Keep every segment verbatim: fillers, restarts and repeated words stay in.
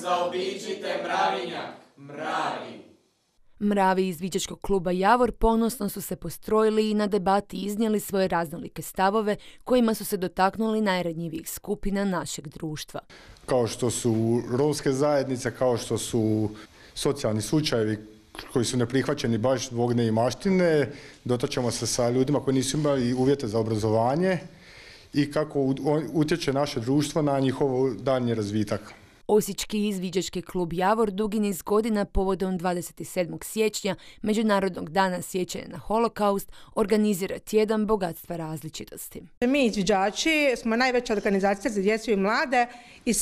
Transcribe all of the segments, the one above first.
Zaobiđite mravinjak, mravi. Mravi iz Viđačkog kluba Javor ponosno su se postrojili i na debati iznijeli svoje raznolike stavove kojima su se dotaknuli najranjivijih skupina našeg društva. Kao što su romske zajednice, kao što su socijalni slučajevi koji su neprihvaćeni baš zbog neimaštine, dotačemo se sa ljudima koji nisu imali uvjete za obrazovanje i kako utječe naše društvo na njihov daljnji razvitak. Osječki izviđački klub Javor dugi niz godina povodom dvadeset sedmog siječnja, Međunarodnog dana sjećanja na holokaust, organizira tjedan bogatstva različitosti. Mi izviđači smo najveća organizacija za djecu i mlade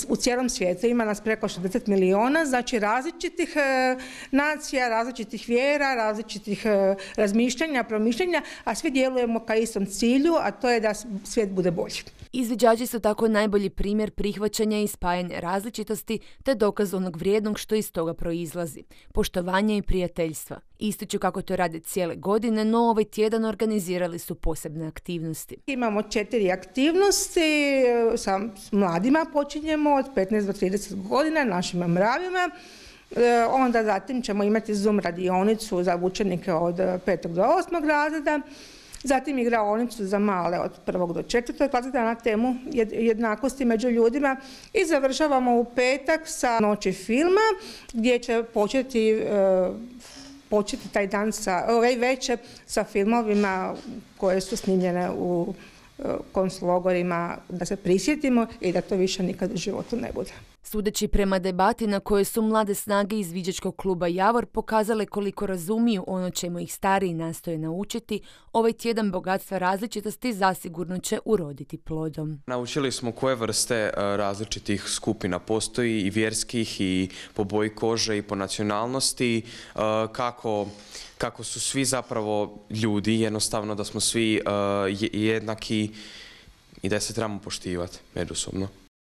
u cijelom svijetu. Ima nas preko šezdeset milijuna, znači različitih e, nacija, različitih vjera, različitih e, razmišljanja, promišljanja, a svi djelujemo ka istom cilju, a to je da svijet bude bolji. Izviđači su tako najbolji primjer prihvaćanja i spajanja različitosti te dokaz onog vrijednog što iz toga proizlazi, poštovanja i prijateljstva. Ističu kako to rade cijele godine, no ovaj tjedan organizirali su posebne aktivnosti. Imamo četiri aktivnosti, sa mladima počinjemo od petnaest do trideset godina, našim mravima. Onda zatim ćemo imati Zoom radionicu za učenike od petog do osmog razreda. Zatim igraonicu za male od prvog do četvrtog razreda na temu jednakosti među ljudima i završavamo u petak sa noći filma gdje će početi, početi taj dan sa, ovaj večer sa filmovima koje su snimljene u konclogorima, da se prisjetimo i da to više nikad u životu ne bude. Sudeći prema debati na kojoj su mlade snage iz Viđačkog kluba Javor pokazale koliko razumiju ono čemu ih stariji nastoje naučiti, ovaj tjedan bogatstva različitosti zasigurno će uroditi plodom. Naučili smo koje vrste različitih skupina postoji, i vjerskih, i po boji kože, i po nacionalnosti, kako kako su svi zapravo ljudi, jednostavno da smo svi jednaki i da se trebamo poštivati međusobno.